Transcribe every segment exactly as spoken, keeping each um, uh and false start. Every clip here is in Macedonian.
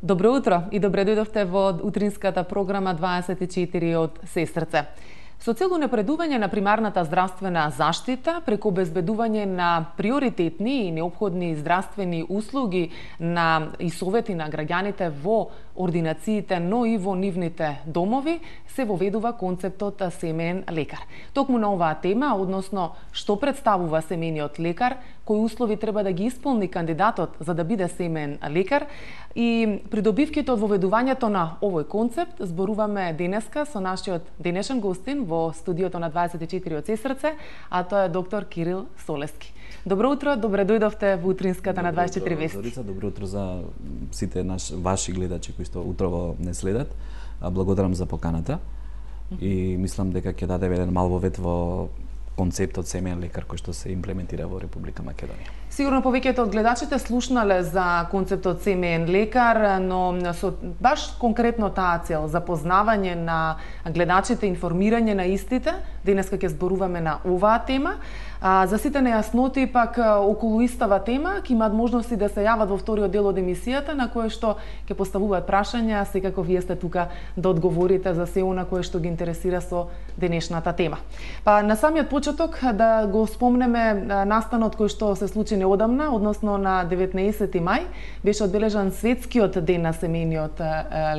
Добро утро и добре дојдовте во утринската програма дваесет и четири од Сестрце. Со цел унапредување на примарната здравствена заштита преку обезбедување на приоритетни и неопходни здравствени услуги на и совети на граѓаните во ординациите, но и во нивните домови, се воведува концептот семеен лекар. Токму на оваа тема, односно што представува семениот лекар, кои услови треба да ги исполни кандидатот за да биде семеен лекар и придобивките од воведувањето на овој концепт, зборуваме денеска со нашиот денешен гостин во студиото на дваесет и четири од Сестрце, а тоа е доктор Кирил Солески. Добро утро, добре дојдовте во утринската на дваесет и четири вести. Зорица, добро утро за сите наш, ваши гледачи кои што утрово не следат. Благодарам за поканата и мислам дека ќе даде еден мал вовед во концептот семеен лекар кој што се имплементира во Република Македонија. Сигурно повеќето од гледачите слушнале за концептот семеен лекар, но со баш конкретно таа цел, запознавање на гледачите, информирање на истите, денеска ќе зборуваме на оваа тема. А, за сите нејасноти пак околу истава тема ќе имаат можности да се јават во вториот дел од емисијата на кое што ќе поставуваат прашања, секако вие сте тука да одговорите за се она кое што ги интересира со денешната тема. Па на самиот почеток да го спомнеме настанот кој што се случи неодамна, односно на деветнаесети мај, беше одбележан светскиот ден на семејниот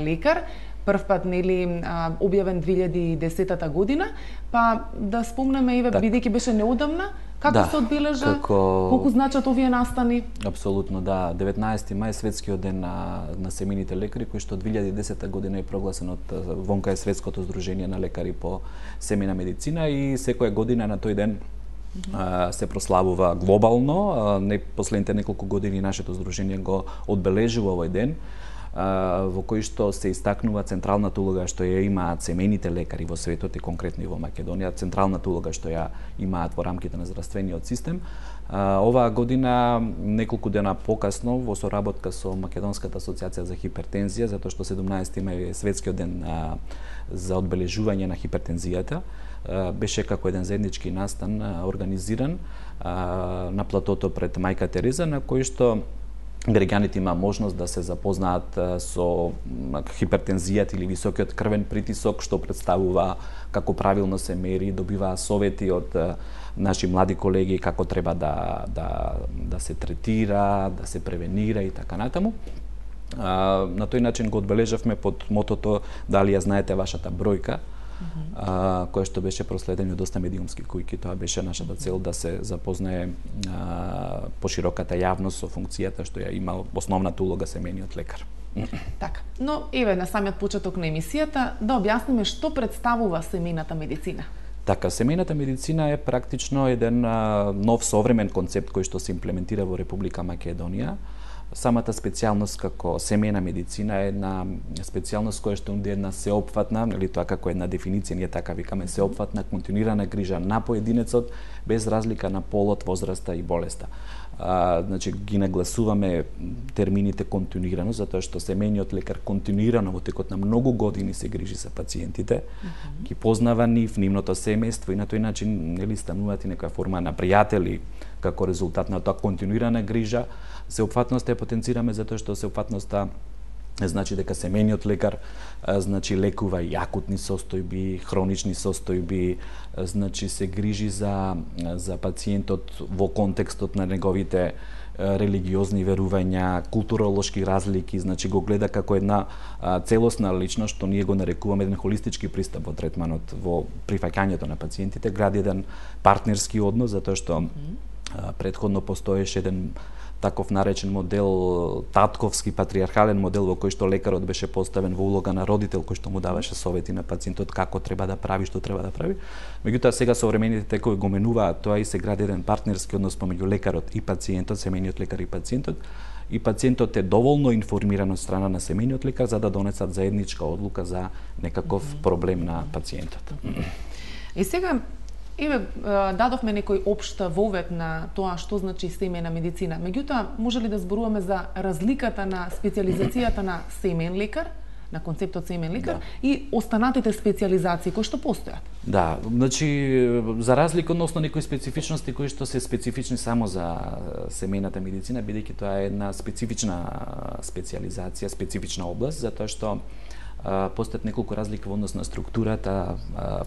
лекар. Прв пат нели објавен две илјади и десетата година, па да спомнеме еве бидејќи беше неодамна, како да, се одбележа, како... колку значат овие настани? Апсолутно, да. деветнаесети мај светскиот ден на, на семејните лекари, кој што две илјади и десета година е прогласен од вонка е Светското здружение на лекари по семејна медицина и секоја година на тој ден Uh, се прославува глобално. Uh, не последните неколку години нашето здружение го одбележува овој ден, uh, во кој што се истакнува централната улога што ја имаат семејните лекари во светот и конкретно и во Македонија, централната улога што ја имаат во рамките на здравствениот систем. Uh, оваа година, неколку дена покасно, во соработка со Македонската асоциација за хипертензија, затоа што седумнаесети мај е светскиот ден uh, за одбележување на хипертензијата, беше како еден заеднички настан организиран на платото пред Мајка Тереза, на кој што граѓаните има можност да се запознаат со хипертензијата или високиот крвен притисок, што представува, како правилно се мери, добиваа совети од наши млади колеги како треба да, да, да се третира, да се превенира и така натаму. На тој начин го одбележавме под мотото "Дали ја знаете вашата бројка", Uh-huh. а, која што беше проследено од доста медиумски кујки. Тоа беше нашата цел да се запознае а, пошироката јавност со функцијата што ја има основната улога семејниот лекар. Така, но еве на самиот почеток на емисијата да објасниме што представува семејната медицина. Така, семејната медицина е практично еден а, нов современ концепт кој што се имплементира во Република Македонија. Самата специјалност како семејна медицина е една специјалност која што е една сеопфатна, или тоа како една дефиниција, ние така викаме, сеопфатна, континуирана грижа на поединецот, без разлика на полот, возраста и болеста. А, значи, ги нагласуваме термините континуирано, затоа што семејниот лекар континуирано во текот на многу години се грижи за пациентите, mm-hmm. ги познава нив, нивното семејство и на тој начин нели стануваат и некоја форма на пријатели како резултат на тоа континуирана грижа. Сеопфатноста ја потенцираме затоа што сеопфатноста значи дека семејниот лекар значи лекува и акутни состојби, хронични состојби, значи се грижи за за пациентот во контекстот на неговите религиозни верувања, културолошки разлики, значи го гледа како една а, целосна личност, што ние го нарекуваме еден холистички пристап во третманот, во прифаќањето на пациентите, гради еден партнерски однос, затоа што а, предходно постоеше еден таков наречен модел, татковски патриархален модел во кој што лекарот беше поставен во улога на родител кој што му даваше совети на пациентот како треба да прави, што треба да прави. Меѓутоа сега современите текови го менуваат тоа и се гради еден партнерски однос помеѓу лекарот и пациентот, семејниот лекар и пациентот. И пациентот е доволно информиран од страна на семејниот лекар за да донесат заедничка одлука за некаков проблем на пациентот. И сега еве дадовме некој општ вовед на тоа што значи семејна медицина. Меѓутоа, може ли да зборуваме за разликата на специјализацијата на семејен лекар, на концептот семеен лекар Да. и останатите специализации кои што постојат. Да, значи за разлика односно некои специфичности кои што се специфични само за семејната медицина, бидејќи тоа е една специфична специализација, специфична област, затоа што постојат неколку разлики во однос на структурата,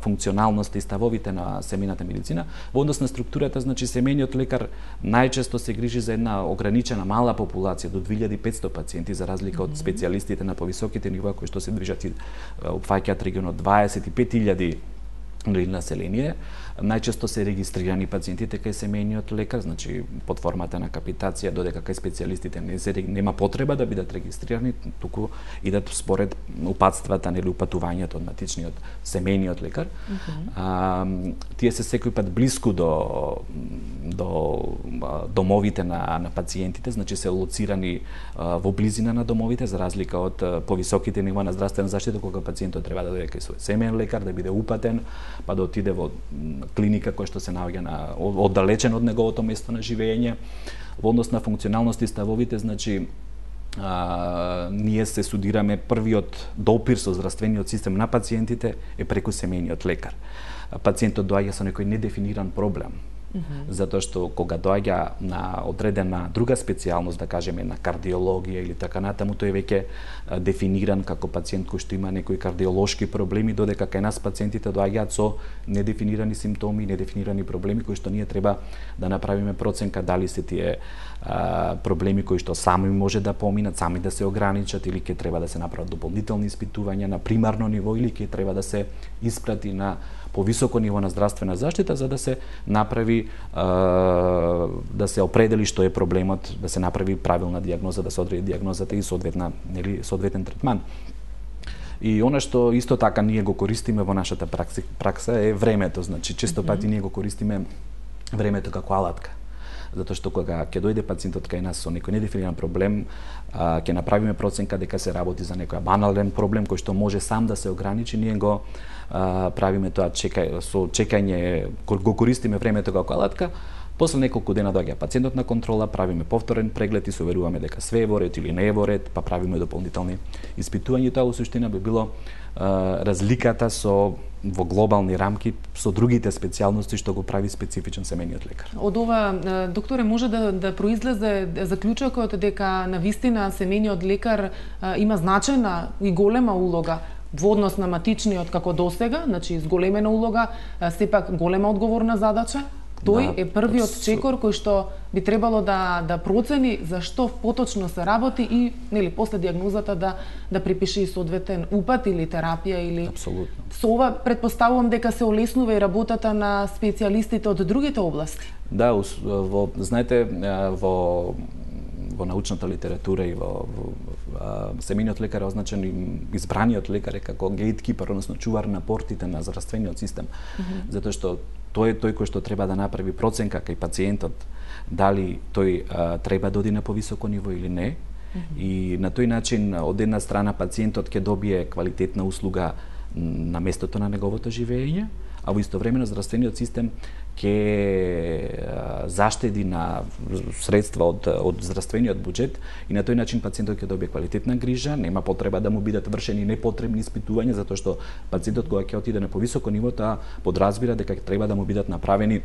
функционалноста и ставовите на семејната медицина. Во однос на структурата, значи семејниот лекар најчесто се грижи за една ограничена мала популација до две илјади и петсто пациенти, за разлика од специјалистите на повисоките нива кои што се движат и опфаќаат регион од дваесет и пет илјади население. Најчесто се регистрирани пациентите кај семејниот лекар, значи под формата на капитација, додека кај специјалистите не се нема потреба да бидат регистрирани, туку идат според упатствата или упатувањето од матичниот семејниот лекар. Mm -hmm. а, тие се секој пат блиску до до домовите на на пациентите, значи се лоцирани а, во близина на домовите, за разлика од а, повисоките нива на здравствена заштита, кога пациентот треба да дојде кај свој семејен лекар, да биде упатен, па да отиде во клиника која што се наоѓа на оддалечен од неговото место на живење. Во однос на функционалност и ставовите, значи а, ние се судираме првиот допир со здравствениот систем на пациентите е преку семејниот лекар. Пациентот доаѓа со некој недефиниран проблем. Mm -hmm. Затоа што кога доаѓа на одредена друга специјалност, да кажеме на кардиологија или така натаму, тој е веќе дефиниран како пациент кој што има некои кардиолошки проблеми, додека кај нас пациентите доаѓаат со недефинирани симптоми, недефинирани проблеми кои што ние треба да направиме проценка дали се тие а, проблеми кои што сами може да поминат, сами да се ограничат, или ќе треба да се направат дополнителни испитувања на примарно ниво, или ќе треба да се испрати на повисоко ниво на здравствена заштита, за да се направи, а, да се определи што е проблемот, да се направи правилна дијагноза, да се одреди дијагнозата и соодветна, нели, соодветен третман. И она што исто така ние го користиме во нашата пракса, пракса е времето, значи често пати ние го користиме времето како алатка. Затоа што кога ќе дојде пациентот кај нас со некој недефиниран проблем, а, ќе направиме проценка дека се работи за некој банален проблем кој што може сам да се ограничи, ние го а, правиме тоа чекај, со чекање, го користиме времето како алатка. После неколку дена доаѓа пациентот на контрола, правиме повторен преглед и се уверуваме дека све е во ред или не е во ред, па правиме дополнителни испитувања. Тоа во суштина би било а, разликата со во глобални рамки со другите специјалности што го прави специфичен семејниот лекар. Од ова, докторе, може да, да произлезе заклучокот дека навистина семејниот лекар а, има значајна и голема улога во однос на матичниот како досега, значи зголемена улога, а, сепак голема одговорна задача. Тој да, е првиот чекор кој што би требало да да процени за што поточно се работи и нели после дијагнозата да да припише и соодветен упат или терапија или Апсолутно. Со ова претпоставувам дека се олеснува и работата на специјалистите од другите области. Да, во знаете во во научната литература и во, во семејниот лекар е означен и избраниот лекар е како гејткипер, односно чувар на портите на здравствениот систем. Mm -hmm. Затоа што тој е тој кој што треба да направи проценка кај пациентот дали тој а, треба да оди на повисоко ниво или не. Mm -hmm. И на тој начин од една страна пациентот ќе добие квалитетна услуга на местото на неговото живење, а во истовремено здравствениот систем ќе заштеди на средства од од здравствениот буџет и на тој начин пациентот ќе добие квалитетна грижа, нема потреба да му бидат вршени непотребни испитувања, затоа што пациентот кога ќе отиде на повисоко ниво, таа подразбира дека треба да му бидат направени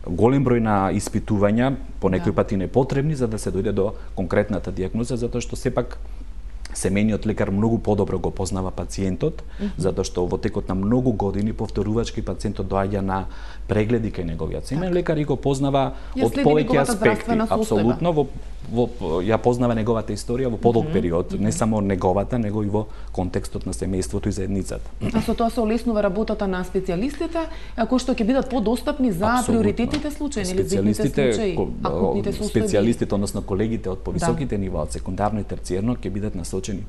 голем број на испитувања, по некои да. пати непотребни, за да се дојде до конкретната дијагноза, затоа што сепак семејниот лекар многу подобро го познава пациентот, mm -hmm. затоа што во текот на многу години повторувачки пациентот доаѓа на прегледи кај неговиот семејен лекар и го познава ја од повеќе аспекти, апсолутно, во, во ја познава неговата историја во подолг mm -hmm. период, не само неговата, него и во контекстот на семејството и заедницата. А со тоа се олеснува работата на специјалистите, кои што ќе бидат подостапни за Абсолютно. приоритетните случаи или зидните случаи, акутните состојби. Специјалистите, односно колегите од повисоките да. нива, од секундарно и терциерно, ќе бидат насочени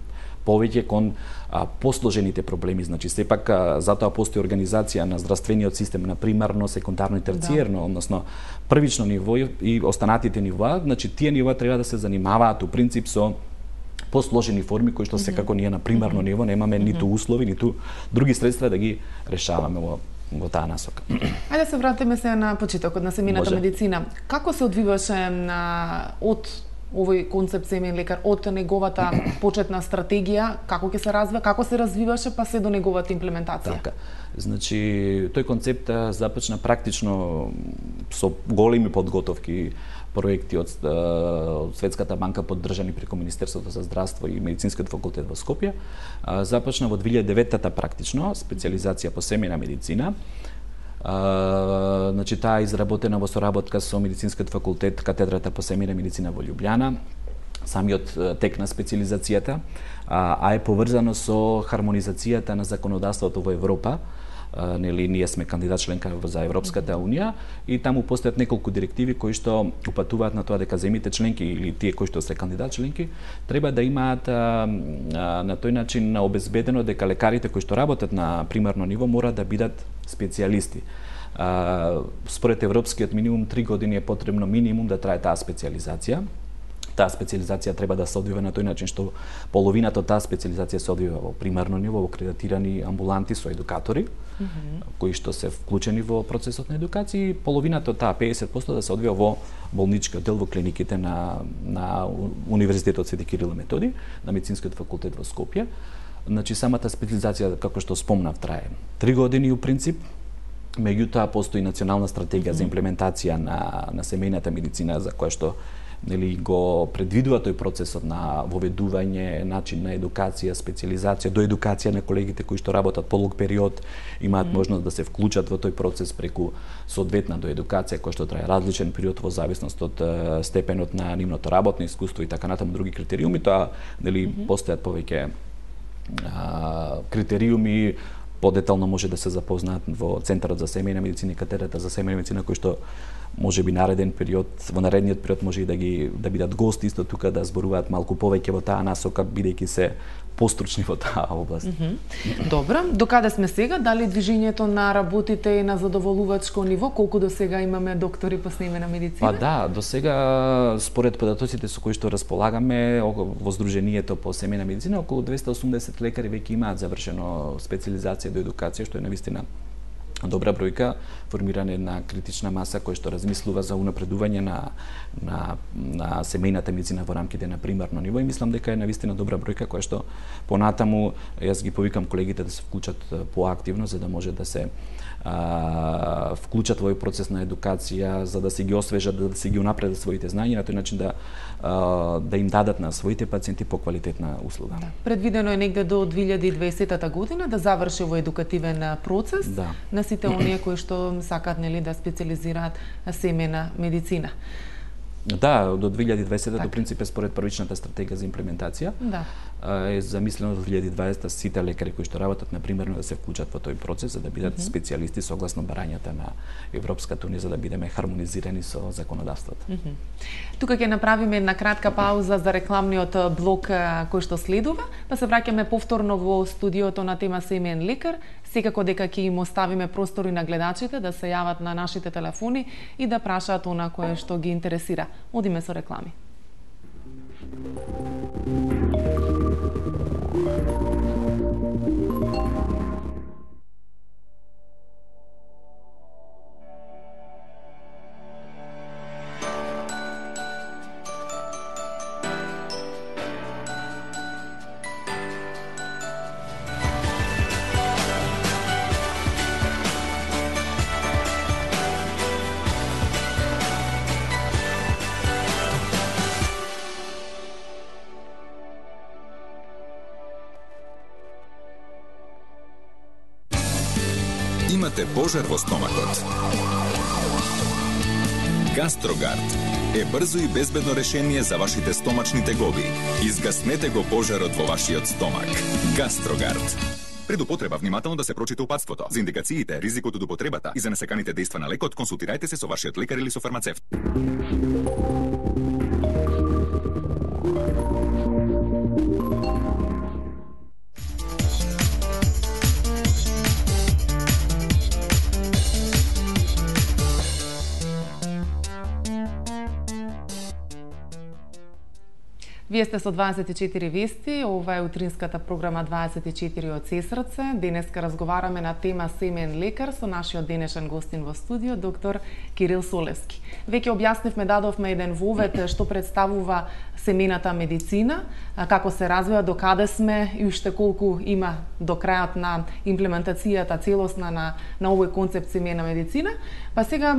повеќе кон а, посложените проблеми, значи сепак а, затоа постои организација на здравствениот систем на примарно, секундарно и терциерно, да. односно првично ниво и останатите нива, значи тие нива треба да се занимаваат у принцип со посложени форми кои што секако ние на примарно ниво немаме ниту услови, ниту други средства да ги решаваме во во таа насока. Ајде да се вратиме се на почетокот на семејната медицина. Како се одвиваше на од овој концепт семеен лекар од неговата почетна стратегија, како ќе се развива, како се развиваше па се до неговата имплементација? Така. Значи, тој концепт започна практично со големи подготовки, проекти од, од Светската банка поддржани преку Министерството за здравство и Медицинскиот факултет во Скопје. Започна во две илјади и деветта практично специјализација по семејна медицина. Uh, значи, таа е изработена во соработка со Медицинскиот факултет, катедрата по семејна медицина во Љубљана, самиот тек на специјализацијата, а, а е поврзано со хармонизацијата на законодавството во Европа. Uh, нели, ние сме кандидат членка за Европската Унија и таму постојат неколку директиви кои што упатуваат на тоа дека земјите членки или тие кои што се кандидат членки треба да имаат а, а, на тој начин обезбедено дека лекарите кои што работат на примарно ниво мора да бидат специјалисти. А, според европскиот минимум три години е потребно минимум да трае таа специјализација. Таа специјализација треба да се одвива на тој начин што половината од таа специјализација се одвива во примарно ниво, во кредитирани амбуланти со едукатори, mm -hmm. кои што се вклучени во процесот на едукација, и половината од таа педесет проценти да се одвива во болничкиот дел, во клиниките на на Универзитетот Свети Кирил и Методи, на Медицинскиот факултет во Скопје. Значи, самата специјализација, како што спомнав, трае три години у принцип. Меѓутоа постои национална стратегија mm -hmm. за имплементација на на семејната медицина, за која што нели го предвидува тој процесот на воведување, начин на едукација, специјализација, до едукација на колегите кои што работат подолг период, имаат mm -hmm. можност да се вклучат во тој процес преку соодветна до едукација која што трае различен период во зависност од uh, степенот на нивното работно искуство и така натаму други критериуми. Тоа нели mm -hmm. постојат повеќе uh, критериуми, подетално може да се запознаат во Центарот за семејна медицина и катедрата за семејна медицина, кои што може би нареден период, во наредниот период може и да ги да бидат гости исто тука, да зборуваат малку повеќе во таа насока, бидејќи се постручни во таа област. Mm -hmm. Добро, до каде сме сега? Дали движењето на работите е на задоволувачко ниво? Колку до сега имаме доктори по семејна медицина? Па да, до сега според податоците со кои што располагаме во Сдруженијето по семејна медицина, околу двесте и осумдесет лекари веќе имаат завршено специјализација до едукација, што е навистина добра бројка, формирање на критична маса која што размислува за унапредување на на на семејната медицина во рамките на примарно ниво, и мислам дека е навистина добра бројка која што понатаму јас ги повикам колегите да се вклучат поактивно за да може да се а, вклучат во овој процес на едукација, за да се ги освежат, да се ги унапредат своите знања, на тој начин да а, да им дадат на своите пациенти поквалитетна услуга. Да. Предвидено е негде до две илјади и дваесета година да заврши овој едукативен процес да. на сите оние кои што сакаат нели да специјализираат семејна медицина. Да, до две илјади и дваесета до принцип е според првичната стратегија за имплементација. Да. Е замислено до две илјади и дваесета сите лекари кои што работат на примерно да се вклучат во тој процес за да бидат mm -hmm. специјалисти согласно барањата на Европската унија, за да бидеме хармонизирани со законодавството. Mm -hmm. Тука ќе направиме една кратка пауза за рекламниот блок кој што следува, па се враќаме повторно во студиото на тема семеен лекар. Секако дека ќе им оставиме простори на гледачите да се јават на нашите телефони и да прашаат она кое што ги интересира. Одиме со реклами. Имате пожар во стомакот. Гастрогард е брзо и безбедно решение за вашите стомачни тегоби. Изгаснете го пожарот во вашиот стомак. Гастрогард. Пред употреба внимателно да се прочита упатството. За индикациите, ризикот од употребата и за несаканите дејства на лекот, консултирајте се со вашиот лекар или со фармацевт. Вие сте со дваесет и четири вести, ова е утринската програма дваесет и четири од Сесрце. Денеска разговараме на тема семеен лекар со нашиот денешен гостин во студио, доктор Кирил Солевски. Веќе објаснивме, дадовме еден вовед што представува семената медицина, како се развива, до каде сме и уште колку има до крајот на имплементацијата целосна на, на овој концепт семеена медицина. Па сега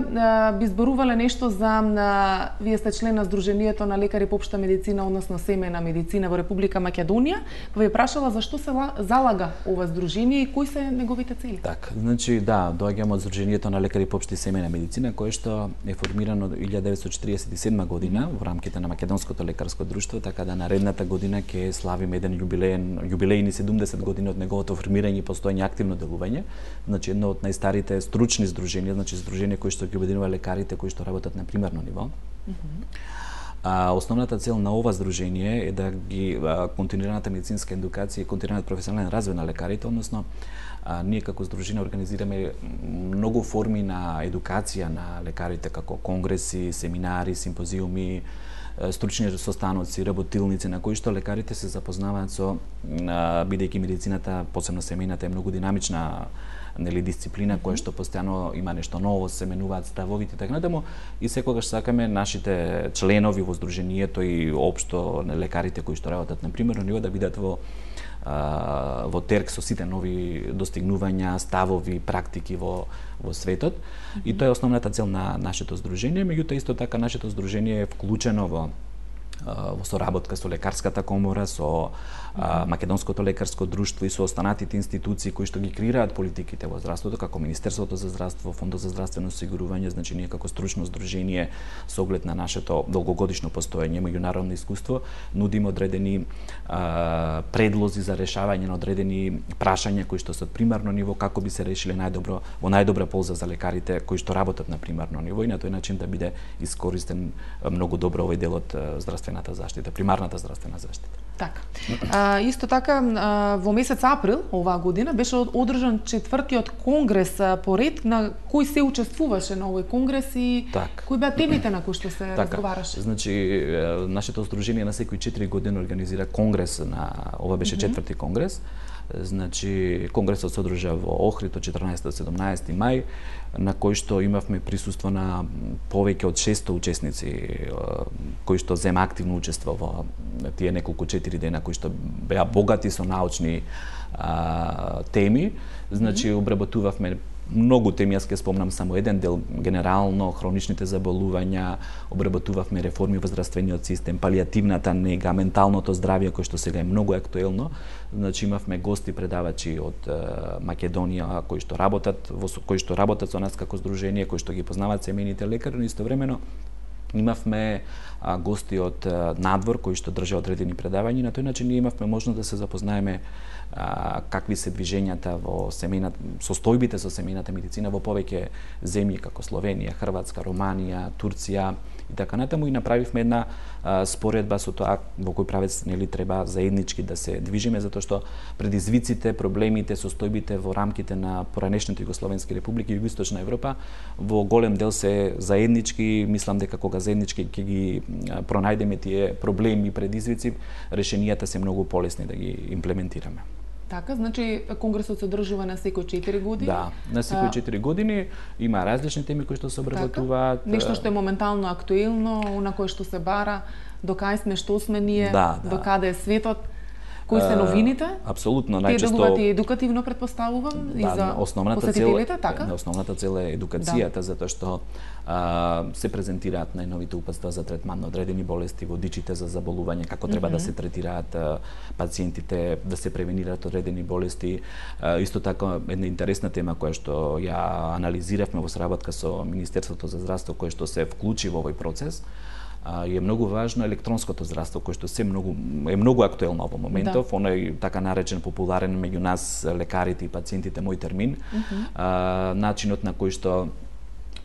би зборувале нешто за, вие сте член на Сдруженијето на лекари по општа медицина, односно семеена медицина во Република Македонија, па ви прашала зашто се залага ова здружение и кои се неговите цели? Так, значи да, доаѓам од Сдруженијето на лекари по општа семеена медицина, кое што е формирано од илјада деветстотини четиридесет и седма година во рамките на Македонското лекарско друштво, така да наредната година ќе славиме еден јубилеен, јубилејни седумдесет години од неговото формирање и постоење активно делување. Значи едно од најстарите стручни здруженија, значи здружение кои што ги обединува лекарите кои што работат на примерно ниво. Mm-hmm. А, основната цел на ова здружение е да ги а, континуираната медицинска едукација и континуираниот професионален развој на лекарите, односно а, ние како здружение организираме многу форми на едукација на лекарите, како конгреси, семинари, симпозиуми, стручни состаноци, работилници на кои што лекарите се запознаваат со, бидејќи медицината, посебно семејната, е многу динамична, нели, дисциплина која што постојано има нешто ново, се менуваат ставовите, така натаму, и секогаш сакаме нашите членови во здруженијето и општо лекарите кои што работат на примерно ниво да бидат во а, во терк со сите нови достигнувања, ставови, практики во во светот. Mm-hmm. И тоа е основната цел на нашето здружение, меѓутоа исто така нашето здружение е вклучено во во соработка со лекарската комора, со а, Македонското лекарско друштво и со останатите институции кои што ги креираат политиките во здравството, како Министерството за здравство, Фондот за здравствено осигурување. Значи ние како стручно здружение со оглед на нашето долгогодишно постоење, меѓународно искуство, нудиме одредени а, предлози за решавање на одредени прашања кои што се од примарно ниво, како би се решиле најдобро во најдобра полза за лекарите кои што работат на примарно ниво и на тој начин да биде искористен многу добро овој дел од здравствената заштита, примарната здравствена заштита. Така. А, исто така, а, во месец април оваа година беше одржан четвртиот конгрес по ред на кој се учествуваше на овој конгрес и так. кои беа темите на кои што се така. разговараше? Значи, нашето здружение на секои четири години организира конгрес на ова беше четврти конгрес. Значи, конгресот се одржа во Охрид од четрнаесети до седумнаесети мај, на кој што имавме присуство на повеќе од шесто учесници кои што зема активно учество во тие неколку четири дена кои што беа богати со научни а, теми. Значи, обработувавме многу теми, јас ќе спомнам само еден дел, генерално хроничните заболувања, обработувавме реформи во здравствениот систем, палијативната нега, менталното здравје кој што сега е многу актуелно. Значи имавме гости предавачи од е, Македонија кои што работат во кои што работат со нас како здружение, кои што ги познаваат семејните лекари, но истовремено имавме а, гости од а, надвор кои што држа одредени предавања. На тој начин ние имавме можност да се запознаеме а, какви се движењата во семејната, состојбите со семејната медицина во повеќе земји како Словенија, Хрватска, Романија, Турција и така натаму, и направивме една а, споредба со тоа во кој правец нели треба заеднички да се движиме, затоа што предизвиците, проблемите, состојбите во рамките на поранешните југословенски републики и југоисточна Европа во голем дел се заеднички. Мислам дека кога заеднички ќе ги пронајдеме тие проблеми и предизвици, решенијата се многу полесни да ги имплементираме. Така, значи конгресот се одржува на секои четири години. Да, на секои четири години има различни теми кои што се обработуваат. Така? Нешто што е моментално актуелно, на кое што се бара, до кај сме, што сме ние, да, да. до каде е светот. Кои се новините? Апсолутно, најчесто. Тие делуваат и едукативно, да, предпоставувам, и за основната посетителите, цел, така? Основната цел е едукацијата, да. Затоа што а, се презентираат најновите упатства за третман на одредени болести, водичите за заболување, како треба mm-hmm. да се третираат а, пациентите, да се превенираат одредени болести. А, исто така, една интересна тема која што ја анализиравме во соработка со Министерството за здравство, кое што се вклучи во овој процес, е многу важно електронското здравство, кое што се многу е многу актуелно во моментов, да. Оној така наречен популарен меѓу нас лекарите и пациентите мој термин, mm-hmm. а, начинот на кој што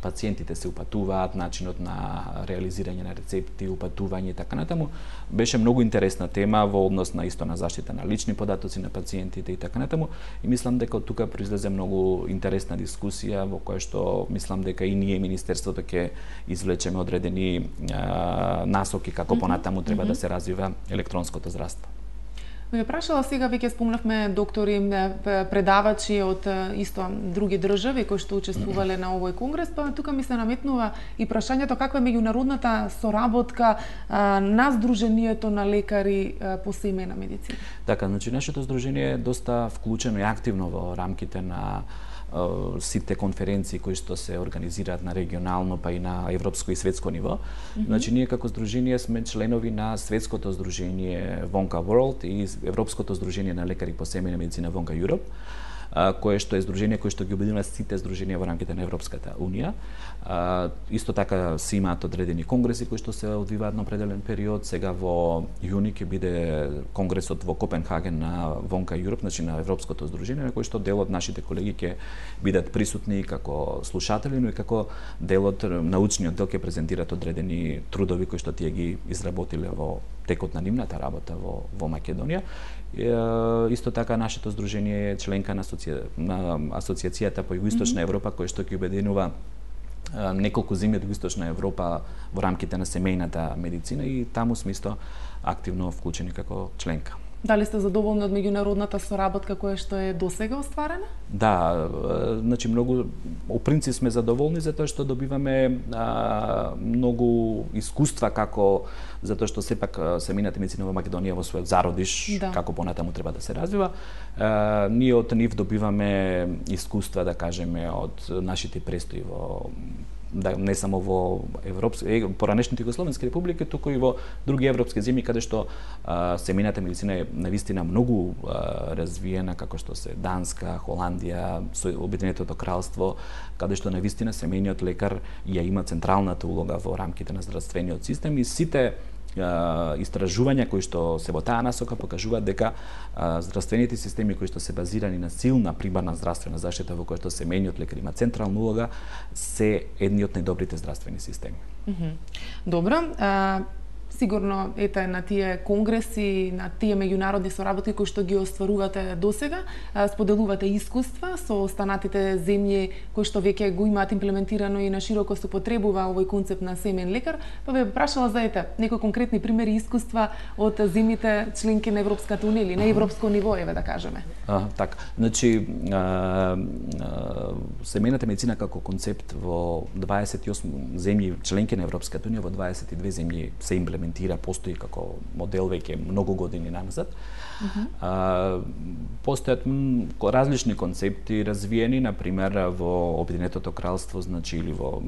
пациентите се упатуваат, начинот на реализирање на рецепти, упатување и така натаму. Беше многу интересна тема во однос на исто на заштита на лични податоци на пациентите и така натаму. И мислам дека од тука произлезе многу интересна дискусија во која што мислам дека и ние министерството ќе извлечеме одредени а, насоки како понатаму треба да се развива електронското здравство. Ме прашала сега, веќе спомнавме доктори, предавачи од исто други држави кои што учествувале на овој конгрес, па тука ми се наметнува и прашањето каква е меѓународната соработка а, на Сдруженијето на лекари а, по семејна медицина. Така, значи нашето здружение е доста вклучено и активно во рамките на сите конференции кои што се организираат на регионално па и на европско и светско ниво. Mm -hmm. Значи ние како здружение сме членови на светското здружение Вонка World и Европското здружение на лекари по семејна медицина Вонка Europe, кое што е здружение кое што ги обединува сите здруженија во рамките на Европската унија. Исто така се имаат одредени конгреси кои што се одвиваат на определен период. Сега во јуни ќе биде конгресот во Копенхаген на Вонка Europe, значи на Европското здружение, на кој што дел од нашите колеги ќе бидат присутни како слушатели, но и како дел од научниот дел ќе презентираат одредени трудови кои што тие ги изработиле во текот на нивната работа во во Македонија. И, исто така нашето здружение е членка на, асоција... на Асоциацијата по Југоисточна Европа, кој што ќе обединува неколку земји од Југоисточна Европа во рамките на семејната медицина и таму сме исто активно вклучени како членка. Дали сте задоволни од меѓународната соработка која што е досега остварена? Да, значи многу, по принцип сме задоволни затоа што добиваме а, многу искуства како затоа што сепак семејната медицина во Македонија во својот зародиш, да. Како понатаму треба да се развива. А, ние од нив добиваме искуства, да кажеме, од нашите престои во да не само во европски, поранешните југословенски републики, туку и во други европски земји каде што а, семејната медицина е навистина многу а, развиена, како што се Данска, Холандија, Обединетото кралство, каде што навистина семејниот лекар ја има централната улога во рамките на здравствениот систем и сите истражувања кои што се во таа насока покажуваат дека а, здравствените системи кои што се базирани на силна примарна здравствена заштита во која што семејниот лекар има централна улога се едни од најдобрите здравствени системи. Mm -hmm. Добро, а, сигурно ете на тие конгреси, на тие меѓународни соработки кои што ги остварувате досега, споделувате искуства со останатите земји кои што веќе го имаат имплементирано и на широко се употребува овој концепт на семеен лекар, па ве прашала за ете некои конкретни примери искуства од земјите членки на Европската унија или на европско ниво, еве да кажеме. А, така, значи а, а, семејната медицина како концепт во дваесет и осум земји членки на Европската унија, во дваесет и две земји се имплементира, постои како модел веќе многу години назад. Uh -huh. а, постојат различни концепти развиени, на пример во Обединетото кралство, значи или во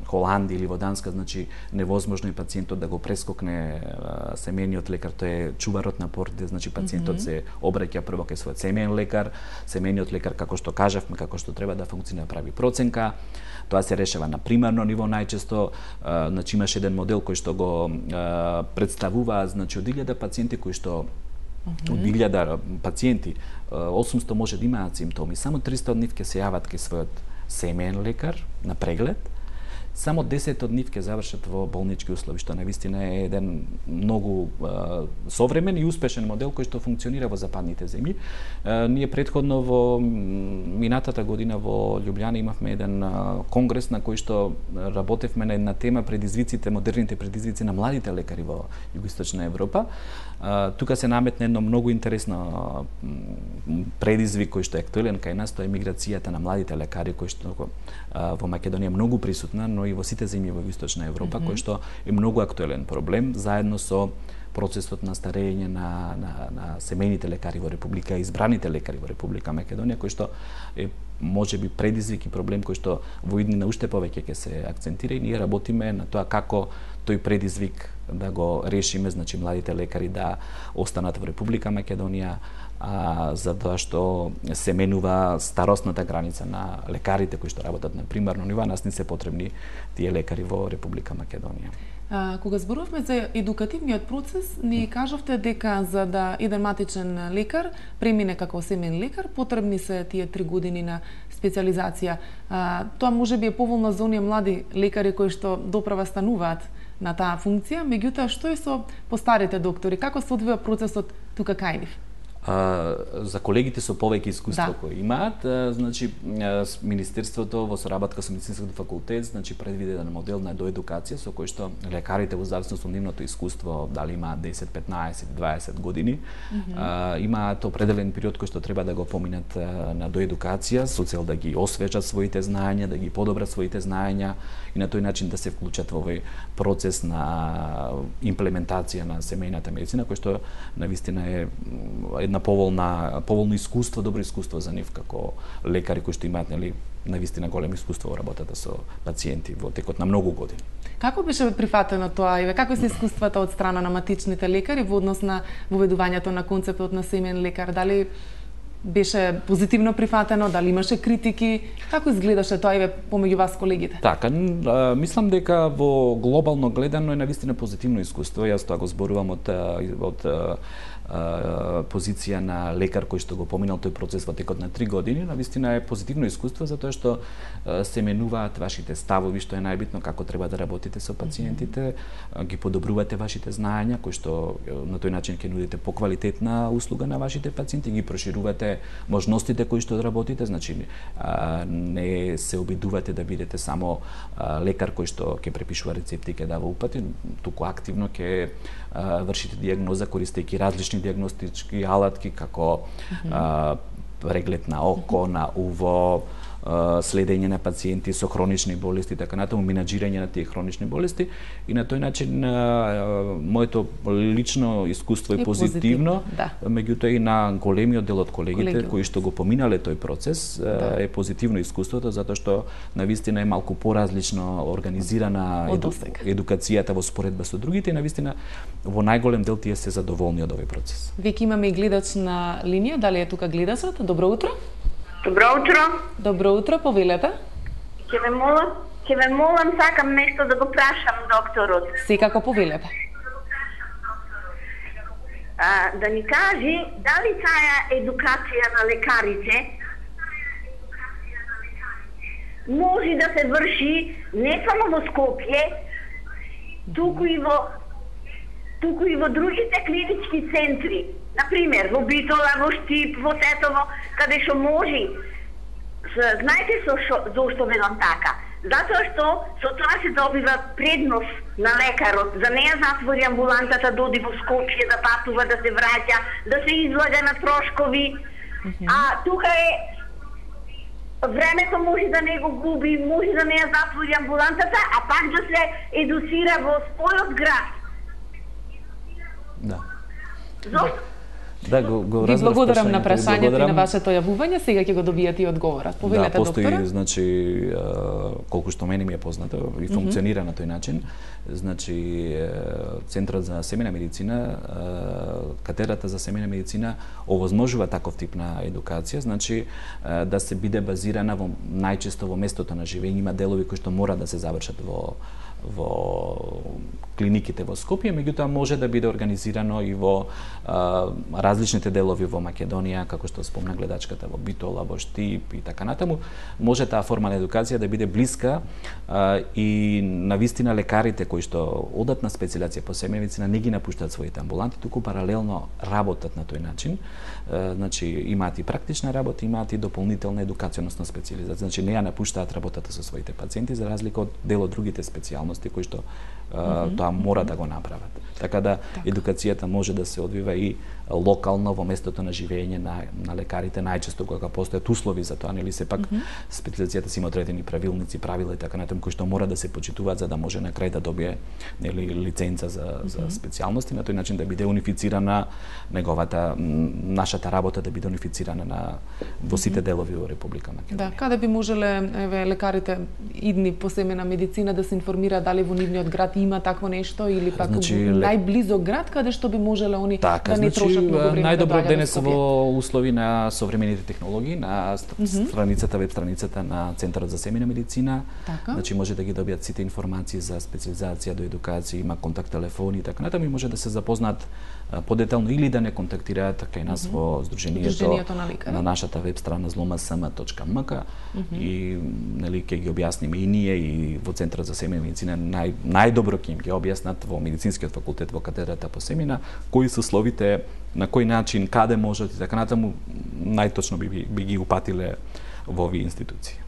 Холандија или во Данска, значи невозможно е пациентот да го прескокне а, семејниот лекар, тој е чуварот на портите, значи пациентот uh -huh. се обраќа прво кај својот семеен лекар, семејниот лекар како што кажавме, како што треба да функционира, прави проценка. Тоа се решава на примарно ниво најчесто, а, значи имаше еден модел кој што го а, представува, значи од илјада пациенти кои што Uh-huh. од илјада пациенти, осумсто може да имаат симптоми, само триста од нив ќе се јават кај својот семеен лекар на преглед, само десет од нив ќе завршат во болнички услови, што навистина е еден многу а, современ и успешен модел кој што функционира во западните земји. А, ние претходно во минатата година во Љубљана имавме еден а, конгрес на кој што работевме на една тема предизвиците, модерните предизвици на младите лекари во Југоисточна Европа. А, тука се наметна едно многу интересно предизвик кој што е актуелен кај нас, тоа е миграцијата на младите лекари кој што а, во Македонија многу присутна, но и во сите земји во Југоисточна Европа, mm-hmm. кој што е многу актуелен проблем, заедно со процесот на старење на, на, на семејните лекари во Република, избраните лекари во Република Македонија, кој што е може би предизвик и проблем кој што во иднина уште повеќе ќе се акцентира и ние работиме на тоа како тој предизвик да го решиме, значи младите лекари да останат во Република Македонија, а, затоа што се менува старосната граница на лекарите кои што работат на примарно ниво, нас не се потребни тие лекари во Република Македонија. А, кога зборувавме за едукативниот процес, ни кажавте дека за да еден матичен лекар премине како семеен лекар, потребни се тие три години на специализација. А, тоа може би е поволно за оние млади лекари кои што доправа стануваат на таа функција, меѓутоа што е со постарите доктори? Како се одвива процесот тука кај нив? А, за колегите со повеќе искуство да. кои имаат, а, значи Министерството во соработка со Медицинскиот факултет значи предвиде еден модел на доедукација со кој што лекарите во зависност од нивното искуство, дали имаат десет, петнаесет, дваесет години, mm -hmm. а, имаат определен период кој што треба да го поминат а, на доедукација со цел да ги освежат своите знаења, да ги подобрат своите знаења и на тој начин да се вклучат во овој процес на имплементација на семејната медицина, кој што навистина е една поволна поволно искуство, добро искуство за нив како лекари кои што имаат нели навистина големо искуство во работата со пациенти во текот на многу години. Како беше прифатено тоа и како се искуствата од страна на матичните лекари во однос на воведувањето на концептот на семеен лекар? Дали беше позитивно прифатено, дали имаше критики? Како изгледаше тоа и помеѓу вас колегите? Така, мислам дека во глобално гледано е навистина позитивно искуство. Јас тоа го зборувам од од позиција на лекар кој што го поминал тој процес во текот на три години, навистина е позитивно искуство затоа што се менуваат вашите ставови, што е најбитно како треба да работите со пациентите, ги подобрувате вашите знаења кои што на тој начин ќе нудите поквалитетна услуга на вашите пациенти, ги проширувате можностите кои што работите, значи не се обидувате да бидете само лекар кој што ќе препишува рецепти и ќе дава упати, туку активно ќе вршите дијагноза користејќи различни дијагностички алатки како mm -hmm. а, преглед на око, на уво, следење на пациенти со хронични болести, така натаму менаџирање на тие хронични болести и на тој начин моето лично искуство е, е позитивно, да. Меѓутоа и на големиот дел од колегите Колегиум. кои што го поминале тој процес да. е позитивно искуството затоа што навистина е малку поразлично организирана еду, едукацијата во споредба со другите и навистина во најголем дел тие се задоволни од овој процес. Веќе имаме и гледач на линија, дали е тука гледачот? Добро утро. Добро утро. Добро утро, повелете. Ќе ве молам, ќе ве молам, сакам нешто да го прашам докторот. Секако повелете. А, да ни кажи дали таа едукација на лекарите може да се врши не само во Скопје, туку и во туку и во другите клинички центри. Например, во Битола, во Штип, во Тетово, каде што може. Знаете со шо, зошто велам така? Затоа што со тоа се добива предност на лекарот. За неја затвори амбулантата, доди во Скопје, да патува, да се враќа, да се излага на трошкови. Mm-hmm. А тука е времето може да не го губи, може да не ја затвори амбулантата, а пак да се едуцира во својот град. Да. Зошто? Да, го, го Ви благодарам на прашањето и на вашето јавување. Сега ќе го добиете и одговорот. Повелете, да, постои, доктора. значи, колку што мене ми е познато и функционира mm -hmm. на тој начин, значи, Центарот за семејна медицина, катедрата за семејна медицина овозможува таков тип на едукација, значи, да се биде базирана во најчесто во местото на живење, има делови кои што мора да се завршат во во клиниките во Скопје, меѓутоа може да биде организирано и во а, различните делови во Македонија, како што спомна гледачката, во Битола, во Штип и така натаму. Може таа форма на едукација да биде блиска а, и навистина лекарите кои што одат на специализација по семејна медицина не ги напуштаат своите амбуланти, туку паралелно работат на тој начин. А, значи имаат и практична работа, имаат и дополнителна едукација, односно специализација. Значи не ја напуштаат работата со своите пациенти за разлика од дел од другите специјалности кои што uh, mm -hmm. тоа мора да го направат. Така да так. Едукацијата може да се одвива и локално во местото на живење на, на лекарите, најчесто кога постојат услови за тоа, нели сепак mm -hmm. специјализацијата си има одредени правилници, правила и така натаму кои што мора да се почитуваат за да може на крај да добие нели лиценца за mm -hmm. за специјалности, на тој начин да биде унифицирана неговата нашата работа да биде унифицирана на во сите делови во Република Македонија. Да, каде би можеле еве лекарите идни по семејна медицина да се информираат контактира дали во нивниот град има такво нешто или пак Значи, најблизо град каде што би можеле они така, да не значи, трошат многу време најдобро да денес во услови на современите технологии, на страницата, веб страницата на Центарот за семејна медицина. Така. Значи може да ги добијат сите информации за специализација, до едукација, има контакт телефони и така натаму, и може да се запознаат подетално или да не контактираат кај нас во Сдруженијето, Сдруженијето на лекари. На нашата веб страна зломасм точка ем ка и нели ќе ги објасниме и ние и во Центарот за семејна медицина нај, најдобро ќе им ги објаснат во медицинскиот факултет во катедрата по семејна кои се условите, на кој начин, каде можат и така натаму, најточно би, би ги упатиле во овие институции.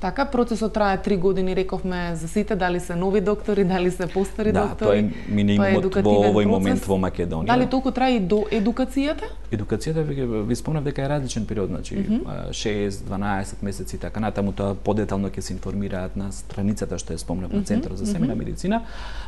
Така, процесот трае три години, рековме за сите, дали се нови доктори, дали се постари да, доктори. Да, тоа е минимумот во овој момент во Македонија. Дали толку трае и до едукацијата? Едукацијата, ви, ви спомнав дека е различен период, значи mm -hmm. шест, дванаесет месеци, така натаму, тоа подетално ќе се информираат на страницата што е спомнав на Центарот за семејна медицина.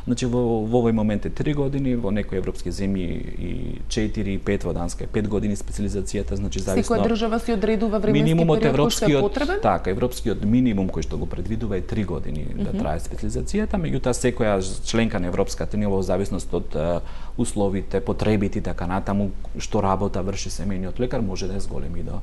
Значи во, во овој момент е три години, во некои европски земји и четири и пет, во Данска е пет години специализацијата, значи зависно. Секоја држава си одредува временски минимумот период кој што е потребен? Така, европскиот минимум кој што го предвидува е три години mm -hmm. да трае специализацијата, меѓутоа секоја членка на Европската унија во зависност од uh, условите, потребите и така натаму што работа врши семејниот лекар може да е зголеми до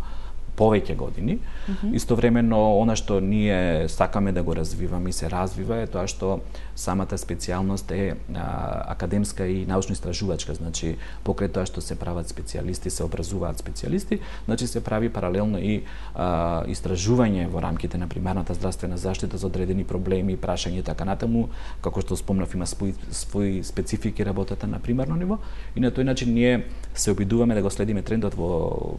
повеќе години. Mm -hmm. Истовремено, она што ние сакаме да го развиваме и се развива е тоа што самата специјалност е а, академска и научно-истражувачка, значи покрај тоа што се прават специјалисти, се образуваат специјалисти, значи се прави паралелно и а, истражување во рамките на примарната здравствена заштита за одредени проблеми, прашања и така натаму, како што спомнав, има своји, своји специфики работата на примарно ниво и на тој начин ние се обидуваме да го следиме трендот во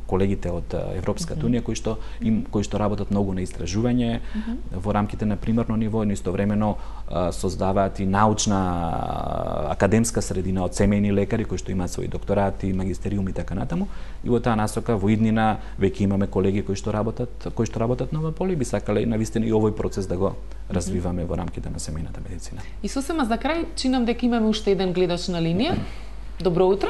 колегите од Европската унија кои што им кои што работат многу на истражување mm -hmm. во рамките на примарно ниво, но истовремено создаваат и научна академска средина од семејни лекари кои што имаат своји докторати, магистериум и така натаму. И во таа насока во иднина веќе имаме колеги кои што работат кои што работат на ова поле и би сакале навистина и овој процес да го развиваме во рамките на семејната медицина. И сосема за крај чинам дека имаме уште еден гледач на линија. Добро утро.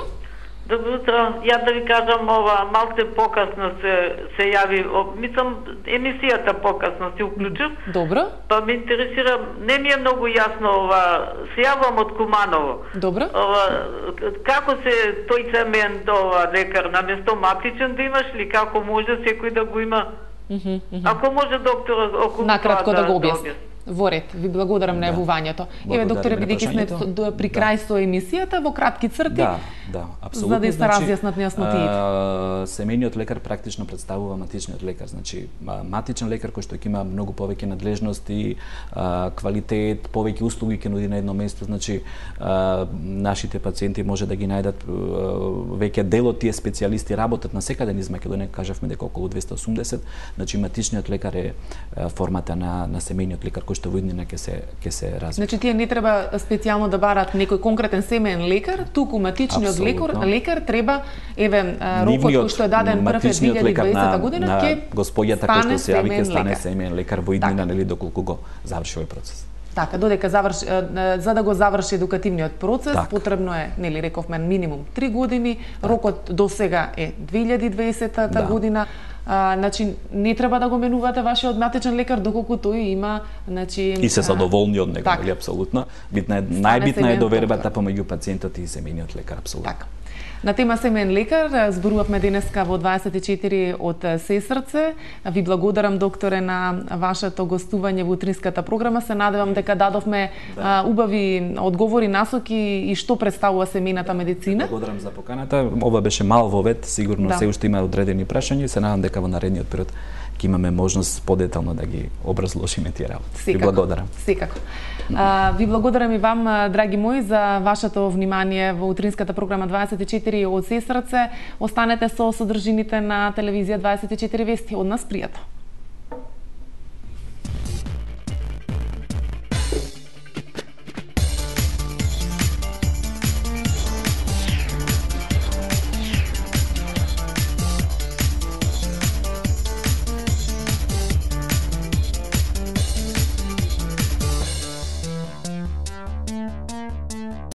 Добро утро. Ја да ви кажам, ова малце покасно се се јави, мислам емисијата покасно се уклучив. Добро. Па ме интересира, не ми е многу јасно ова, се јавам од Куманово. Добро. Ова како се тој цемен ова лекар наместо матичен да имаш ли, како може секој да го има? Mm -hmm, mm -hmm. Ако може докторот околу накратко да, да го објасни. Да Во ред, ви благодарам на јавувањето. Еве, докторе, бидејќи сме при крај со емисијата, во кратки црти, да, да, апсолутно, за да се значи, разјаснат нејаснотиите. Семејниот лекар практично представува матичниот лекар, значи матичен лекар кој што ќе има многу повеќе надлежности, квалитет, повеќе услуги ќе нуди на едно место, значи нашите пациенти може да ги најдат веќе дел од тие специјалисти работат на секаде низ Македонија, кажавме дека околу двесте и осумдесет, значи матичниот лекар е формата на на семејниот лекар кој што во иднина ќе се ќе се развива. Значи тие не треба специјално да барат некој конкретен семеен лекар, туку матичниот лекар, лекар треба еве рокот кој што е даден прв е две илјади и дваесета година ќе госпоѓата кој што се јави ќе стане семеен лекар во иднина, нели доколку го заврши овој процес. Така, додека заврши, за да го заврши едукативниот процес, так. потребно е, нели рековме, минимум три години, так. рокот до сега е две илјади и дваесета да. година. А, значи не треба да го менувате вашиот матичен лекар доколку тој има, значи и се задоволни од него, нели апсолутно. Битна е најбитна е довербата помеѓу пациентот и семејниот лекар, апсолутно. Така. На тема семеен лекар зборувавме денеска во дваесет и четири од Сесрце. Ви благодарам, докторе, на вашето гостување во утринската програма. Се надевам дека дадовме да. убави одговори, насоки и што представува семејната медицина. Благодарам за поканата. Ова беше мал вовед, сигурно да. се уште има одредени прашања и се надам дека во наредниот период ќе имаме можност подетално да ги образложиме тие работи. Ви благодарам. Секако. А, ви благодарам и вам, драги мои, за вашето внимание во утринската програма дваесет и четири од Сесрце. Останете со содржините на телевизија дваесет и четири Вести. Од нас пријатно.